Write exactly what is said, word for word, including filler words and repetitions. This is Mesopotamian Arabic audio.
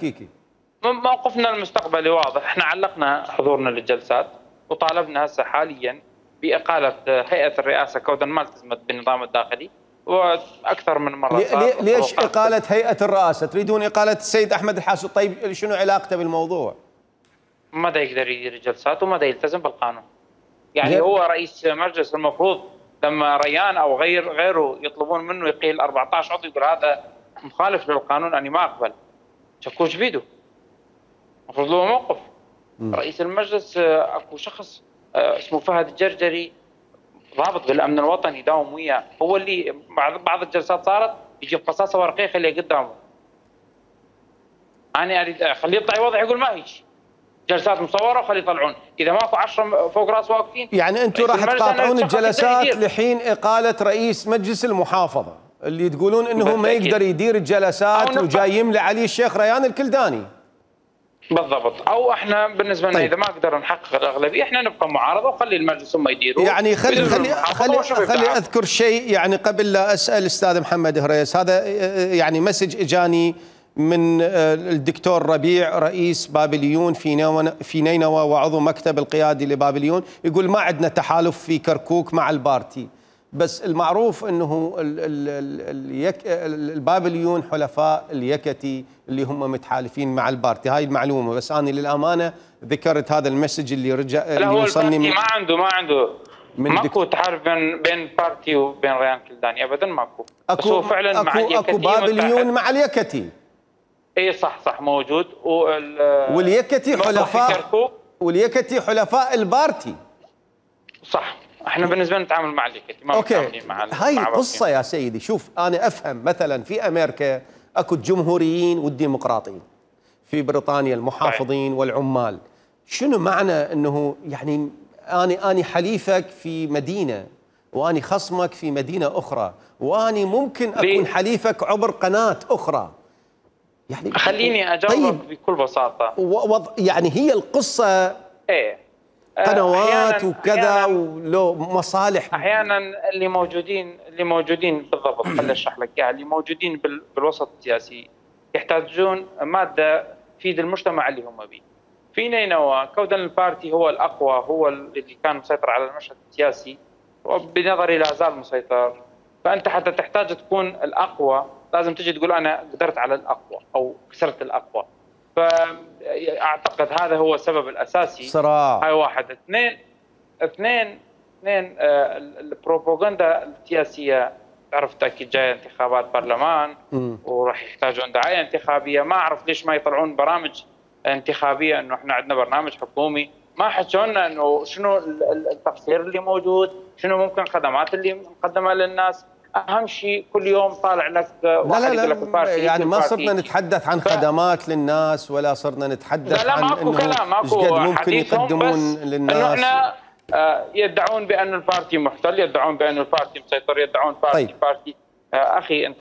الكيكي؟ موقفنا المستقبلي واضح، احنا علقنا حضورنا للجلسات وطالبنا هسه حاليا باقاله هيئه الرئاسه كودا ما التزمت بالنظام الداخلي، واكثر من مره صار. ليش اقاله هيئه الرئاسه؟ تريدون اقاله السيد احمد الحاسود؟ طيب شنو علاقته بالموضوع؟ ما دا يقدر يدير الجلسات وما دا يلتزم بالقانون. يعني هو رئيس مجلس، المفروض لما ريان او غير غيره يطلبون منه يقيل أربعة عشر عضو يقول هذا مخالف للقانون اني ما اقبل. شكوش بيده. المفروض له موقف. م. رئيس المجلس اكو شخص اسمه فهد الجرجري ضابط بالامن الوطني يداوم وياه، هو اللي بعض بعض الجلسات صارت يجيب قصاصه ورقيه يخليها قدامه. انا اريد اخليه يطلع يوضح يقول ما هيك. جلسات مصوره وخليه يطلعون، اذا ماكو عشرة فوق راس واقفين. يعني انتم راح تقاطعون الجلسات لحين اقاله رئيس مجلس المحافظه اللي تقولون انه ما يقدر يدير الجلسات وجاي يملى عليه الشيخ ريان الكلداني. بالضبط، او احنا بالنسبه لنا طيب. اذا ما قدرنا نحقق الاغلبيه احنا نبقى معارضه وخلي المجلس هم يديروا. يعني خلي خلي خلي, خلي اذكر شيء يعني قبل لا اسال الاستاذ محمد هريس، هذا يعني مسج اجاني من الدكتور ربيع رئيس بابليون في في نينوى وعضو مكتب القيادي لبابليون، يقول ما عندنا تحالف في كركوك مع البارتي، بس المعروف انه البابليون حلفاء اليكتي اللي هم متحالفين مع البارتي، هاي المعلومه، بس انا للامانه ذكرت هذا المسج اللي رجع اللي وصلني ما عنده ما عنده ماكو تحالف بين بين بارتي وبين ريان كلداني ابدا، ماكو. بس هو فعلا أكو مع اليكتي، اكو بابليون مع اليكتي. اي صح صح موجود. واليكتي حلفاء واليكتي حلفاء البارتي. صح، احنا بالنسبه لنا نتعامل مع اليكتي ما متعاملين مع هاي القصه يا سيدي. شوف انا افهم مثلا في امريكا اكو الجمهوريين والديمقراطيين، في بريطانيا المحافظين طيب. والعمال. شنو معنى انه يعني اني اني حليفك في مدينه واني خصمك في مدينه اخرى، واني ممكن اكون حليفك عبر قناه اخرى؟ يعني خليني اجاوبك طيب بكل بساطه. وض... يعني هي القصه ايه قنوات وكذا ولو مصالح. احيانا اللي موجودين اللي موجودين بالضبط خليني اشرح لك اياها. اللي موجودين بال... بالوسط السياسي يحتاجون ماده تفيد المجتمع اللي هم به. في نينوى كودا البارتي هو الاقوى، هو اللي كان مسيطر على المشهد السياسي وبنظري لا زال مسيطر. فانت حتى تحتاج تكون الاقوى لازم تجي تقول انا قدرت على الاقوى او كسرت الاقوى. فاعتقد هذا هو السبب الاساسي. صراع. هاي واحد. اثنين اثنين اثنين آه البروباغندا السياسيه تعرف اكيد جايه انتخابات برلمان وراح يحتاجون دعايه انتخابيه. ما اعرف ليش ما يطلعون برامج انتخابيه انه احنا عندنا برنامج حكومي. ما حكوا لنا انه شنو التقصير اللي موجود، شنو ممكن الخدمات اللي مقدمه للناس. اهم شيء كل يوم طالع لك واحد لا لا يقول لك البارتي يعني ما صرنا نتحدث عن ف... خدمات للناس، ولا صرنا نتحدث لا عن ماكو انه كلام ماكو قد ممكن يقدمون للناس. انه احنا يدعون بان البارتي محتل، يدعون بان البارتي مسيطر، يدعون بارتي طيب. بارتي اخي انت